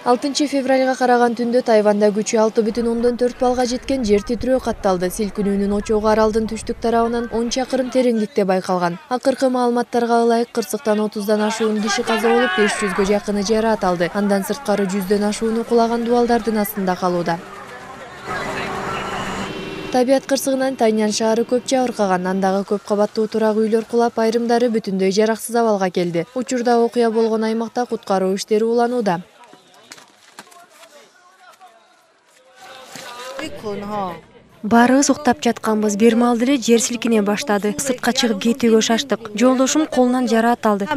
6 февралга караган түндө Тайванда күчү 6,4 балга жеткен жер титирөө катталды. Силкинүүнүн очогу аралдын түштүк тарабынан 10 чакырым тереңдикте байкалган. Акыркы маалыматтарга ылайык кырсыктан 30дан ашуун киши каза болуп, 500гө жакыны жараат алды. Андан сырткары 100дөн ашууну кулаган дубалдардын астында калууда. Табият кырсыгынан Тайнян шаары көп жабыркаган. Андагы көп кабаттуу турак үйлөр кулап, айрымдары бүтүндөй жараксыз абалга келди. Учурда окуя болгон аймакта куткаруу иштери уланууда. Баарыбыз уктап жатканбыз. Бир маалда эле жер силкине баштады. Сыртка чыгып кетүүгө шаштык. Жолдошум колунан жараат алды.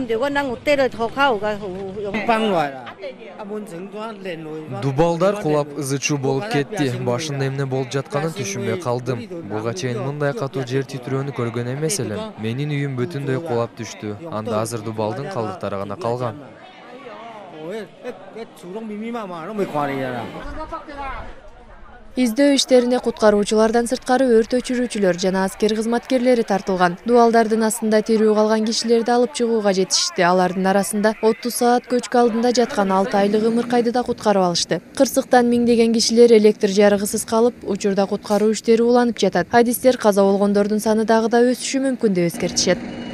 Дубалдар кулап ызы-чуу болуп кетти. Башында эмне болуп жатканын түшүнбөй калдым. Буга чейин мындай катуу жер титирөөнү көргөн эмес элем. Менин үйүм бүтүндөй кулап түштү. Анда азыр дубалдын калдыктары гана калган. Издөө иштерине куткаруучулардан сырткары өрт өчүрүүчүлөр жана аскер кызматкерлери тартылган. Дубалдардын астында тирүү калган кишилерди алып чыгууга жетишти. Алардын арасында 30 саат көчкү алдында жаткан 6 айлык ымыркайды да куткарып алышты. Кырсыктан миңдеген кишилер электр жарыгысыз калып, учурда куткаруу иштери уланып жатат. Адистер каза болгондордун саны дагы да өсүшү мүмкүн деп эскертишет.